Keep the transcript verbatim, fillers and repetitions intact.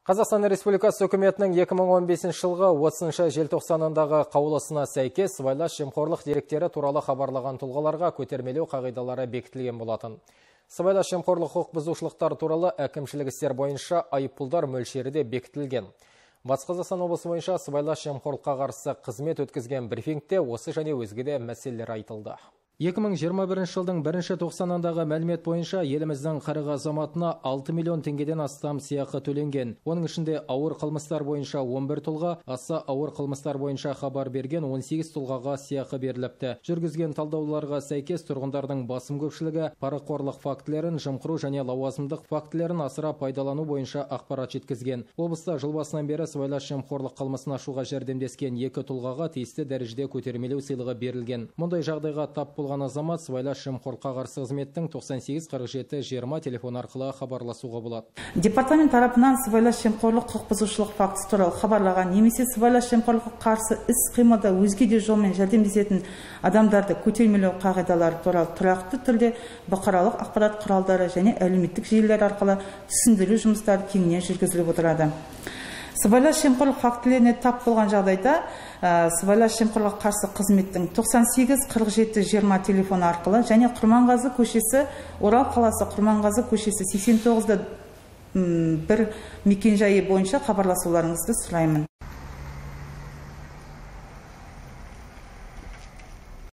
Қазақстан Республикасы үкіметінің екі мың он бесінші жылғы отызыншы желтоқсанындағы қаулысына сәйкес сыбайлас жемқорлық деректері туралы хабарлаған тұлғаларға көтермелеу қағидалары бекітілген болатын. Сыбайлас жемқорлық құқық бұзушылықтар туралы әкімшілік істер бойынша айыппұлдар мөлшері де бекітілген. Батыс Қазақстан облысы бойынша сыбайлас жемқорлыққа қарсы қызмет өткізген брифингте осы және өзге де мәселелер айтылды. екі мың жиырма бірінші жылдың бірінші тоқсанындағы мәлімет бойынша еліміздің қырық азаматына алты миллион теңгеден астам сыйақы төленген. Оның ішінде ауыр қылмыстар бойынша он бір тұлға, аса ауыр қылмыстар бойынша хабар берген он сегіз тұлғаға сыйақы беріліпті. Жүргізген талдауларға сәйкес тұрғындардың басым көпшілігі парақорлық фактілерін, жымқыру және лауазымдық фактілерін асыра пайдалану бойынша ақпарат жеткізген. Облыста жыл басынан бері сыбайлас жемқорлық қылмысын ашуға жәрдемдескен екі тұлғаға тиісті дәрежеде көтермелеу сыйлығы берілген. Мұндай жағдайға тап болған азамат сыбайлас жемқорлыққа қарсы қызметтің тоқсан сегіз қырық жеті жиырма телефон арқылы хабарласуға болады. Департамент тарапынан сыбайлас жемқорлық құқық бұзушылық фактісі туралы хабарлаған немесе сыбайлас жемқорлыққа қарсы іс-қимылда өзге де жолмен жәрдемдесетін адамдарды көтермелеу қағидалары туралы тұрақты түрде бұқаралық ақпарат құралдары және әлеуметтік желілер арқылы түсіндіру жұмыстары кеңінен жүргізіліп отырады. Сыбайлас жемқорлық фактілеріне тап болған жағдайда сыбайлас жемқорлыққа қарсы қызметтің тоқсан сегіз қырық жеті жиырма телефоны арқылы және Құрманғазы көшесі, Орал қаласы Құрманғазы көшесі сексен тоғыз да бір мекенжайы бойынша хабарласуларыңызды сұраймын.